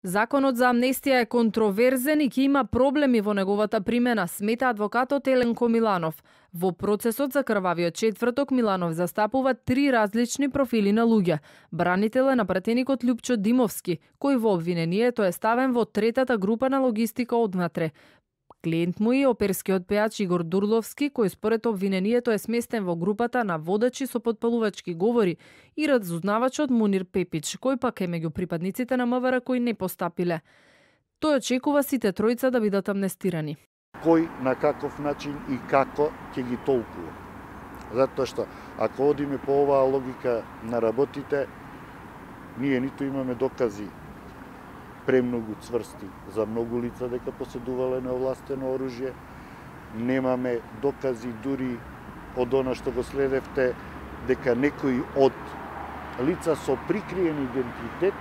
Законот за амнестија е контроверзен и ќе има проблеми во неговата примена, смета адвокатот Еленко Миланов. Во процесот за крвавиот четврток Миланов застапува 3 различни профили на луѓе. Бранител е напратеникот Љупчо Димовски, кој во обвинението е ставен во третата група на логистика однатре. Клиент му е оперскиот пејач Игор Дурловски, кој според обвинението е сместен во групата на водачи со потпалувачки говори, и разузнавачот Мунир Пепич, кој пак е меѓу припадниците на МВР кои не постапиле. Тој очекува сите тројца да бидат амнестирани. Кој, на каков начин и како ќе ги толкува. Затоа што, ако одиме по оваа логика на работите, ние ниту имаме докази премногу цврсти за многу лица дека поседувале неовластено оружје. Немаме докази дури од она што го следевте дека некои од лица со прикриен идентитет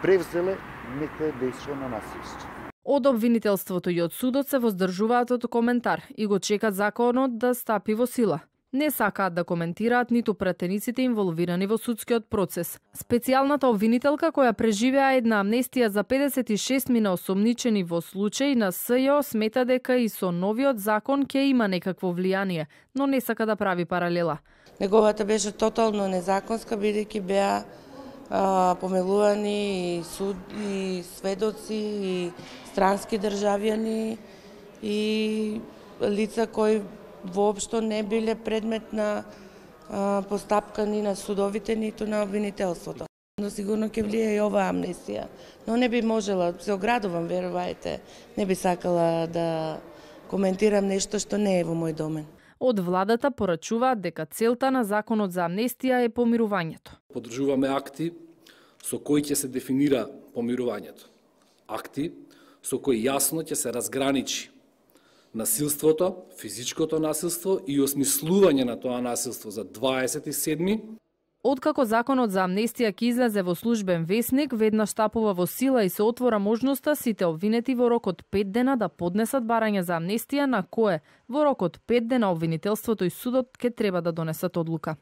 превзеле некое дејство на насилство. Од обвинителството и од судот се воздржуваат од коментар и го чекат законот да стапи во сила. Не сакаат да коментираат ниту пратениците инволвирани во судскиот процес. Специјалната обвинителка која преживеа една амнестија за 56 мина осомничени во случај на СЈО смета дека и со новиот закон ќе има некакво влијание, но не сака да прави паралела. Неговата беше тотално незаконска, бидејќи беа помилувани и суд и сведоци и странски државјани и лица кои воопшто не биле предмет на постапка ни на судовите, ниту на обвинителството. Но сигурно ќе влие и оваа амнестија, но не би можела, се оградувам, верувајте, не би сакала да коментирам нешто што не е во мој домен. Од владата порачуваат дека целта на законот за амнестија е помирувањето. Поддржуваме акти со кои ќе се дефинира помирувањето. Акти со кои јасно ќе се разграничи насилството, физичкото насилство и осмислување на тоа насилство за 27. Откако законот за амнестија ќе излезе во службен весник, веднаш стапува во сила и се отвора можноста сите обвинети во рок од 5 дена да поднесат барање за амнестија, на кое во рок од 5 дена обвинителството и судот ќе треба да донесат одлука.